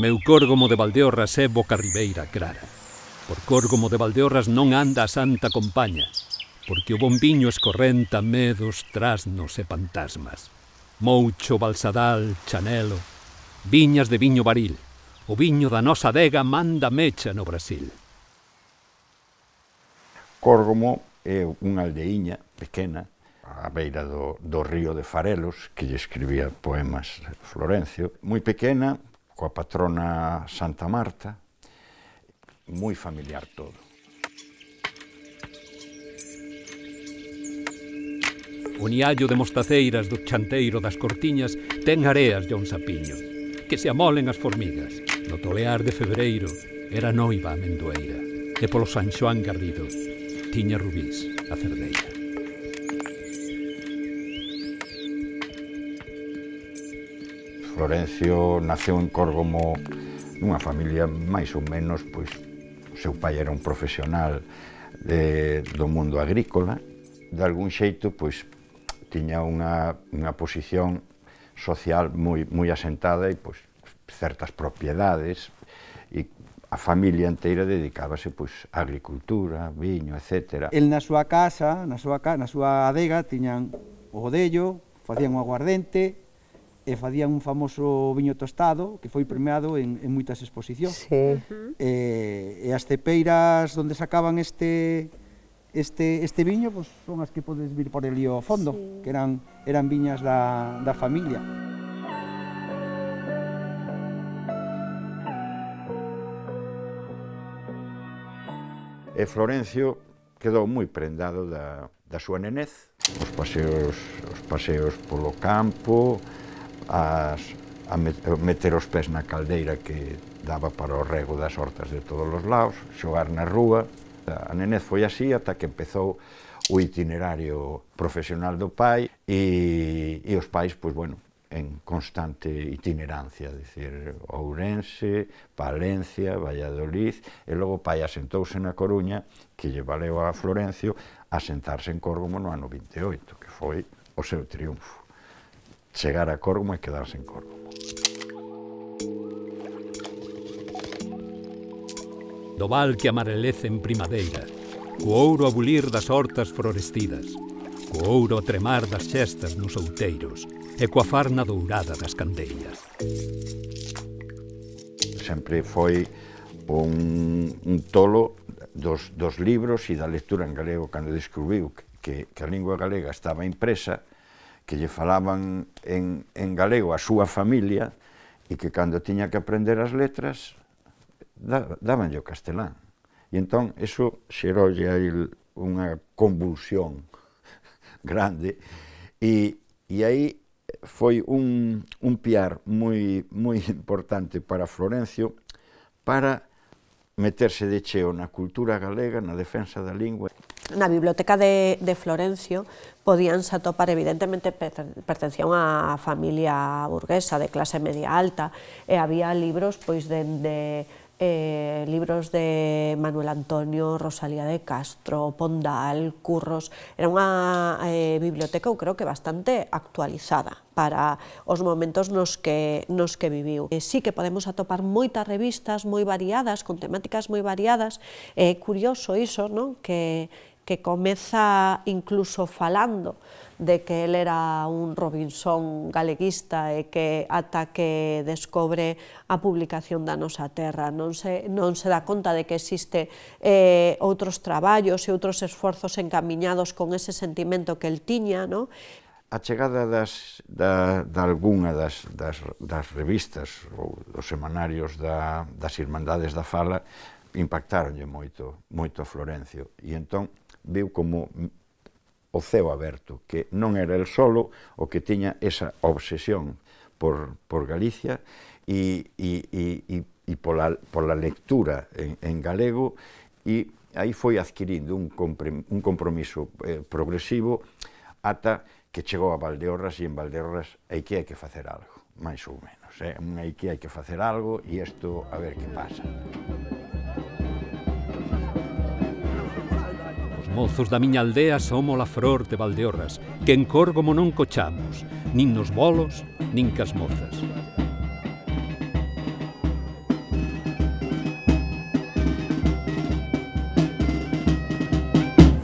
Meu Córgomo de Valdeorras é boca ribeira clara. Por Córgomo de Valdeorras non anda a santa compaña, porque o bon viño escorrenta medos, trasnos e fantasmas. Moucho, Balsadal, Chanelo, viñas de viño baril. O viño da nosa adega manda mecha no Brasil. Córgomo é unha aldeiña pequena, á beira do río de Farelos, que lle escribía poemas Florencio, moi pequena, coa patrona Santa Marta, moi familiar todo. O niallo de mostaceiras do chanteiro das Cortiñas ten areas de un sapiño, que se amolen as formigas. No tolear de febreiro era noiva a amendoeira, e polo San Xoán Garrido tiña rubís a cerdeira. Florencio naceu en Córgomo nunha familia máis ou menos, pois, o seu pai era un profesional do mundo agrícola, de algún xeito, pois, tiña unha posición social moi asentada e, pois, certas propiedades, e a familia inteira dedicábase, pois, á agricultura, viño, etc. El na súa casa, na súa adega, tiñan o godello, facían o aguardente, e facían un famoso viño tostado que foi premiado en moitas exposicións. Sí. E as cepeiras onde sacaban este viño pues, son as que podes vir por ali ao fondo, sí, que eran viñas da familia. E Florencio quedou moi prendado da súa nenez, os paseos polo campo, a meter os pés na caldeira que daba para o rego das hortas de todos os lados, xogar na rúa. A nenez foi así ata que empezou o itinerario profesional do pai e os pais, pois, bueno, en constante itinerancia, dicir, Ourense, Palencia, Valladolid, e logo o pai asentouse na Coruña, que lle valeu a Florencio asentarse en Córgomo no ano 28, que foi o seu triunfo. Chegar a Córgomo e quedarse en Córgomo. Do val que amarelece en primadeira, co ouro a bulir das hortas florestidas, co ouro a tremar das xestas nos outeiros e coa farna dourada das candeias. Sempre foi un tolo dos libros e da lectura en galego cando descubriu que a lingua galega estaba impresa, que lle falaban en galego a súa familia e que cando tiña que aprender as letras dabanlle o castelán. E entón, iso xeroulle a il unha convulsión grande e aí foi un piar moi importante para Florencio para meterse de cheo na cultura galega, na defensa da lingua. Na biblioteca de Florencio podíanse atopar, evidentemente pertencía a unha familia burguesa de clase media alta e había libros pois dende libros de Manuel Antonio, Rosalía de Castro, Pondal, Curros. Era unha biblioteca, eu creo que bastante actualizada para os momentos nos que viviu. Sí que podemos atopar moitas revistas moi variadas, con temáticas moi variadas. É curioso iso, non? Que comeza incluso falando de que el era un Robinson galeguista e que ata que descobre a publicación da Nosa Terra non se dá conta de que existe outros traballos e outros esforzos encamiñados con ese sentimento que el tiña, non? A chegada de algunha das revistas ou dos semanarios das Irmandades da Fala impactaronlle moito a Florencio e entón viu como o ceo aberto, que non era el solo o que tiña esa obsesión por Galicia e pola lectura en galego, e aí foi adquirindo un compromiso progresivo ata que chegou a Valdeorras, e en Valdeorras hai que facer algo. máis ou menos. Aquí hai que facer algo e isto a ver que pasa. Os mozos da miña aldea somos a flor de Valdeorras, que en Córgomo non cochamos, nin nos bolos, nin cas mozas.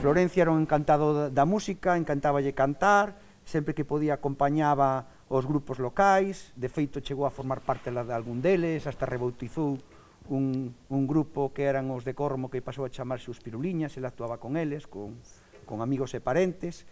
Florencia era un encantado da música, encantáballe cantar, sempre que podía acompañaba os grupos locais, de feito chegou a formar parte de algún deles, hasta rebautizou un grupo que eran os de Córgomo que pasou a chamarse os Piruliñas, ele actuaba con eles, con amigos e parentes,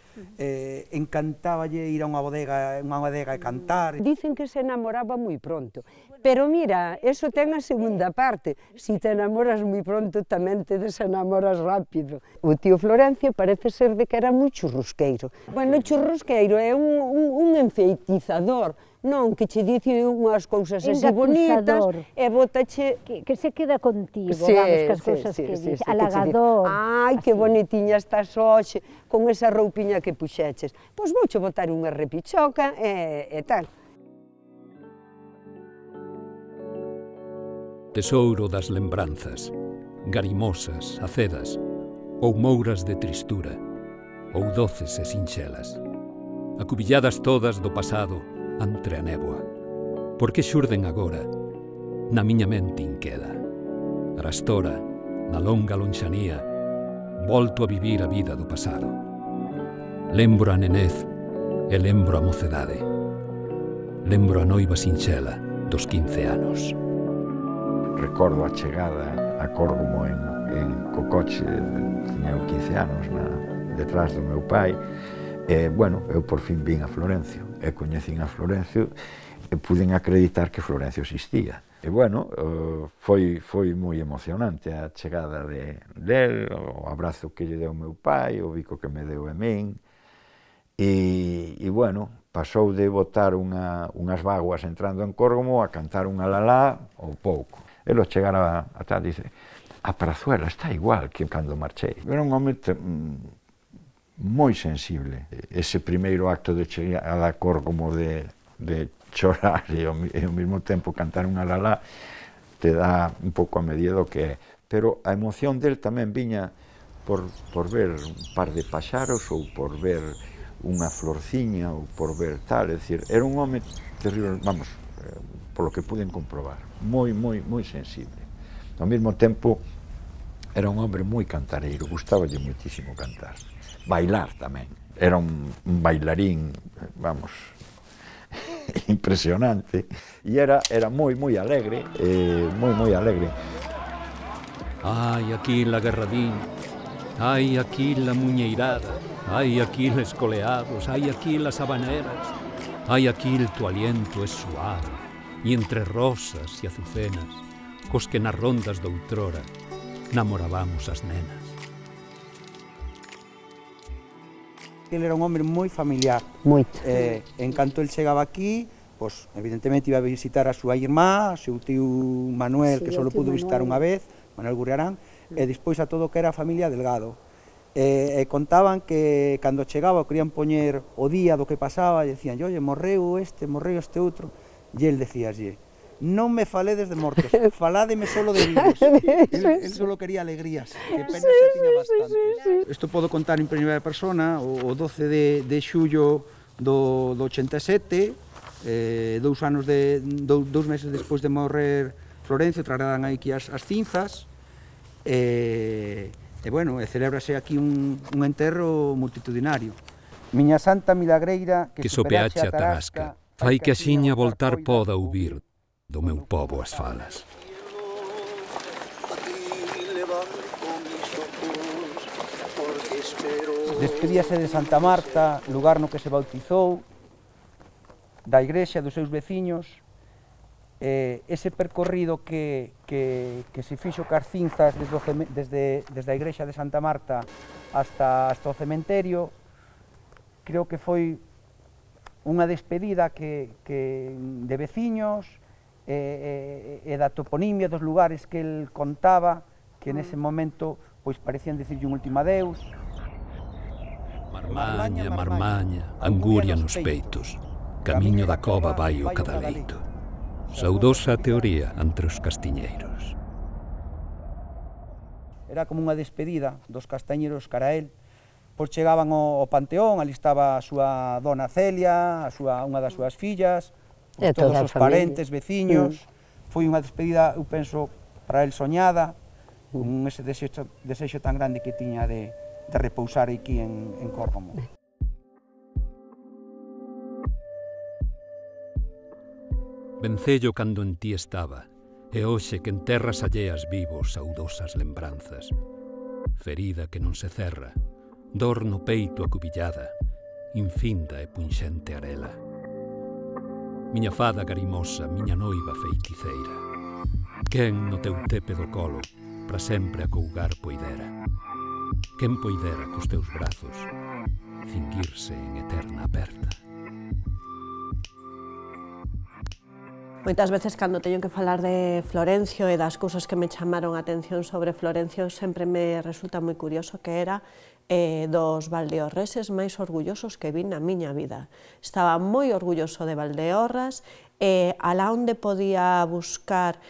encantáballe ir a unha bodega e cantar. Dicen que se enamoraba moi pronto, pero mira, eso ten a segunda parte, si te enamoras moi pronto tamén te desenamoras rápido. O tío Florencio parece ser de que era moi churrusqueiro. Bueno, churrusqueiro é un enfeitizador, non, que che dice unhas cousas así bonitas e botache... Que se queda contigo, vamos, cas cousas que dice, halagador. Ai, que bonitiña estás hoxe, con esa roupiña que puxeches. Pois vouche botar unha repichoca e tal. Tesouro das lembranzas, garimosas, acedas, ou mouras de tristura, ou doces e sinxelas, acubilladas todas do pasado entre a néboa, porque xurden agora na miña mente inqueda. Arastora, na longa lonxanía, volto a vivir a vida do pasado. Lembro a nenez e lembro a mocedade. Lembro a noiva sinxela dos 15 anos. Recordo a chegada a Córgomo co coche, tiña 15 anos, detrás do meu pai, e, bueno, eu por fin vin a Florencio, e coñecín a Florencio, e puden acreditar que Florencio existía. E, bueno, foi moi emocionante a chegada del, o abrazo que lle deu meu pai, o bico que me deu a min, e, bueno, pasou de botar unhas vaguas entrando en Córgomo a cantar unha lalá ou pouco. Ele chegar a tal, dice, a Prazuela está igual que cando marchei. Era un home moi sensible. Ese primeiro acto de chegar a Córgomo de chorar e ao mesmo tempo cantar unha lalá te dá un pouco a medida do que é. Pero a emoción del tamén viña por ver un par de paxaros ou por ver unha florciña ou por ver tal, é dicir, era un home terrible, vamos, polo que puden comprobar, moi sensible. Ao mesmo tempo era un hombre moi cantareiro, gustaballe moitísimo cantar. Bailar tamén, era un bailarín, vamos, impresionante, e era moi alegre, moi alegre. Ai, aquí la Guerradín, ai, aquí la Muñeirada, ai, aquí les coleados, ai, aquí las habaneras, ai, aquí el tu aliento es suave, e entre rosas e azucenas, cos que nas rondas doutrora namorábamos as nenas. Ele era un hombre moi familiar. Moito. En canto el chegaba aquí, pois, evidentemente iba a visitar a súa irmá, o seu tío Manuel, que só pudo visitar unha vez, Manuel Gurriarán, e despois a todo o que era a familia Delgado. E contaban que cando chegaba o querían poñer o día do que pasaba, e decían, oye, morreu este outro, e el decíaslle, non me faledes de mortos, faládeme solo de vivos. Él solo quería alegrías, que penas se tiña bastantes. Isto podo contar en primeira persona, o 12 de xullo do 87, 2 meses despois de morrer Florencio, trasladan aquí as cinzas, e bueno, celébrase aquí un enterro multitudinario. Miña santa milagreira, que sopeache a tarasca, fai que axiña voltar poda ouvir do meu pobo as falas. Despedíase de Santa Marta, lugar no que se bautizou, da igrexa, dos seus veciños, ese percorrido que se fixo cas cinzas desde a igrexa de Santa Marta hasta o cementerio, creo que foi unha despedida de veciños e da toponimia dos lugares que el contaba, que nese momento pois parecían dicirlle un último adeus. Marmaña, marmaña, anguria nos peitos, Camiño da cova vai o cadaleito. Saudosa teoría entre os castiñeiros. Era como unha despedida dos castañeros cara a él, pois chegaban ao panteón, ali estaba a súa dona Celia, unha das súas fillas, todos os parentes, veciños. Foi unha despedida, eu penso, para él soñada, con ese desexo tan grande que tiña de repousar aquí en Córgomo. Vencello cando en ti estaba, e hoxe que en terras alleas vivo saudosas lembranzas. Ferida que non se cerra, dor no peito acubillada, infinda e punxente arela. Miña fada garimosa, miña noiva feiticeira, quen no teu tepe do colo para sempre acougar poidera? Quen poidera cos teus brazos cinguirse en eterna aperta? Moitas veces, cando teño que falar de Florencio e das cousas que me chamaron a atención sobre Florencio, sempre me resulta moi curioso que era dos valdeorreses máis orgullosos que vi na miña vida. Estaba moi orgulloso de Valdeorras, alá onde podía buscar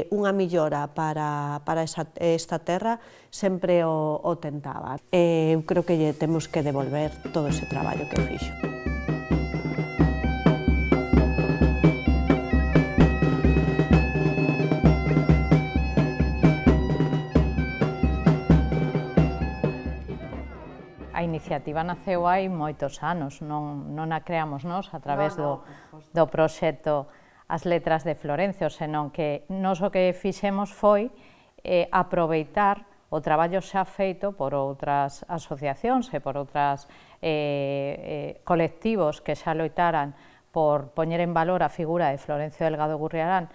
unha millora para esta terra, sempre o tentaba. Eu creo que lle temos que devolver todo ese traballo que fixo. A iniciativa naceu hai moitos anos, non a creamos nós a través do proxecto As Letras de Florencio, senón que nós o que fixemos foi aproveitar o traballo xa feito por outras asociacións e por outras colectivos que xa loitaran por poñer en valor a figura de Florencio Delgado Gurriarán,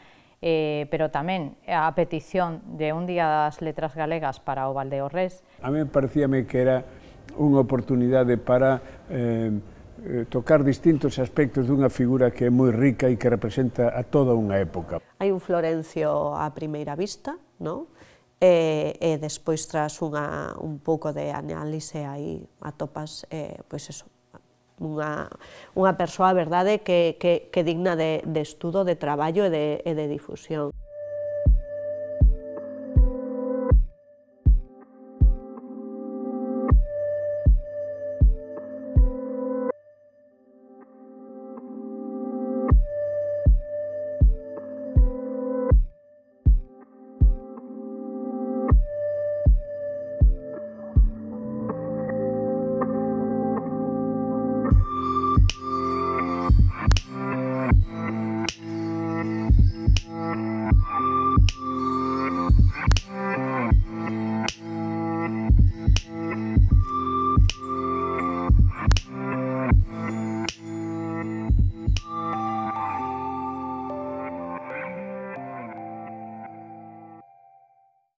pero tamén a petición de un Día das Letras Galegas para o Valdeorrés. A mí parecíame que era unha oportunidade para tocar distintos aspectos dunha figura que é moi rica e que representa a toda unha época. Hai un Florencio a primeira vista, non? E despois, tras un pouco de análise, aí atopas, pois eso, unha persoa, verdade, que digna de estudo, de traballo e de difusión.